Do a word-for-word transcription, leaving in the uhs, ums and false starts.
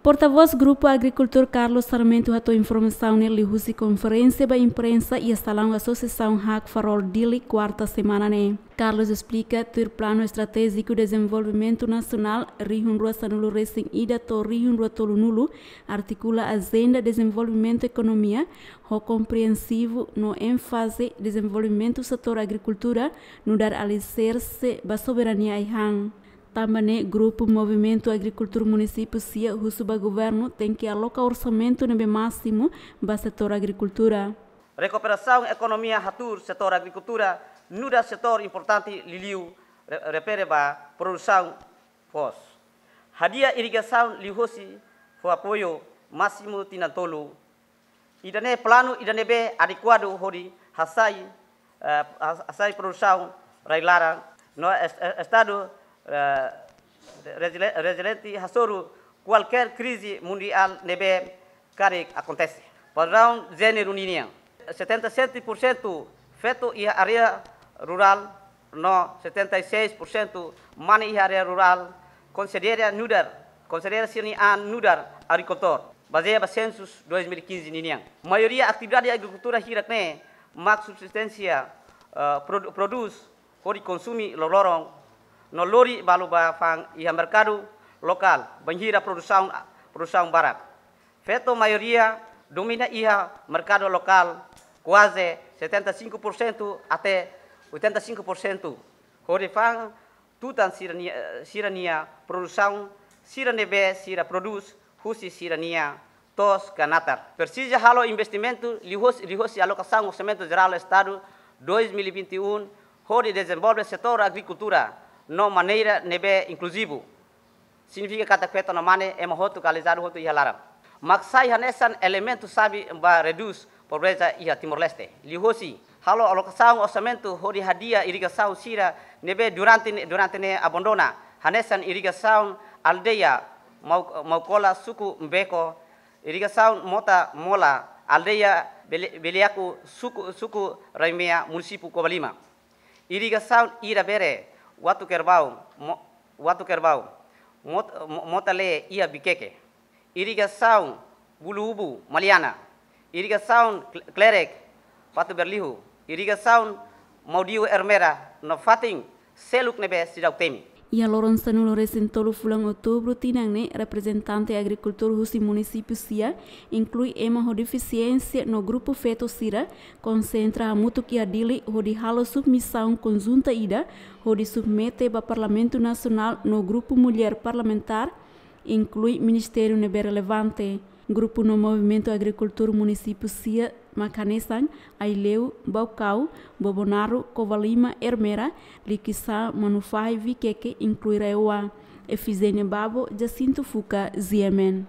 Portavós Grupu Agrikultór Carlos Sarmento hato'o informasaun ne'e liuhusi konferénsia ba imprensa iha salaun Asosiasaun Hakfarol Dili, kuarta semana ne'e. Carlos esplika tuir Planu Estratéjiku Dezenvolvimentu Nasionál rihun rua sanulu resin ida to'o rihun rua tolunulu, artikula ajenda dezenvolvimentu ekonomia ho kompreensivu no énfaze dezenvolvimentu setór agrikultura, nu'udar aliserse ba soberania ai-han. Tanba ne'e, Grupu Movimentu Agrikultór Munisípiu sia husu ba governu tenke aloka orsamentu ne'ebé másimu ba setór agrikultura. Rekuperasaun ekonomia hatuur setór agrikultura nu'udar setór importante liuliu re-, refere ba produsaun foos. Hadi'a irrigasaun liuhosi fó apoiu másimu tinan tolu. Ida-ne'e planu ida ne'ebé adekuadu hodi hasai, eh, has-, hasai produsaun rai-laran no es-, eh, estadu, eh, rezili-, reziliente hasoru kualkér krize mundiál ne'ebé karik akontese. Padraun jéneru ninian, setenta e sete por cento feto iha área rurál no setenta e seis por cento mane iha área rurál konsidera nu'udar, konsidera sira-nia an nu'udar agrikultór, bazeia ba sensus dois mil e quinze ninian. Maioria atividade agrikultura hirak-ne'e mak subsisténsia, eh, produ-, prodús hodi konsumu loroloron no lori balu ba fa'an iha merkadu lokál, bainhira produsaun, produsaun barak. Feto maioria domina iha merkadu lokál, kuaze setenta e cinco por cento até oitenta e cinco por cento, hodi fa'an tutan sira-nia, sira-nia produsaun, sira ne'ebé sira prodús husi sira-nia to'os ka natar. Presiza halo investimentu liuhos-, liuhosi alokasaun Orsamentu Jerál Estadu dois mil e vinte e um, hodi dezenvolve setór agrikultura no maneira ne'ebé inkluzivu. Signifika katak feto no mane ema hotu ka alizadu hotu iha laran. Mak sai hanesan elementu xave ba redús pobreza iha Timor-Leste. Liuhosi halo alokasaun orsamentu hodi hadi'a irrigasaun sira ne'ebé durante ne-, durante ne'e abandona, hanesan irrigasaun aldeia Mau-, Maukola, suku Mbeko, irrigasaun Mota Mola, aldeia Bele-, Beleaku, suku, suku Raimea, munisípiu Covalima. Irrigasaun Ira Bere, Watu Kerbau, Mo-, Watu Kerbau, Mot-, Mo-, Mota Lee iha Vikeke. Irrigasaun Bulubu, Maliana. Irrigasaun Kle-, Klerek, Fatuberliu. Irrigasaun Maudiu, Ermera, no fatin seluk ne'ebé seidauk temi. Iha loron sanulu resin tolu fulan Outubru tinan ne'e, reprezentante agrikultór husi munisípiu sia, inklui ema ho defisiénsia no grupu feto sira, konsentra hamutuk iha Dili hodi halo submisaun konjunta ida, hodi submete ba Parlamentu Nasionál no Grupu Mulher Parlamentár, inklui ministériu ne'ebé relevante. Grupu no movimentu agrikultór munisípiu sia mak hanesan Aileu, Baucau, Bobonaro, Covalima, Ermera, Liquiçá, Manufahi, Vikeke, inklui RAEOA. Efigénia Babo, Jacinto Fuca, G M N.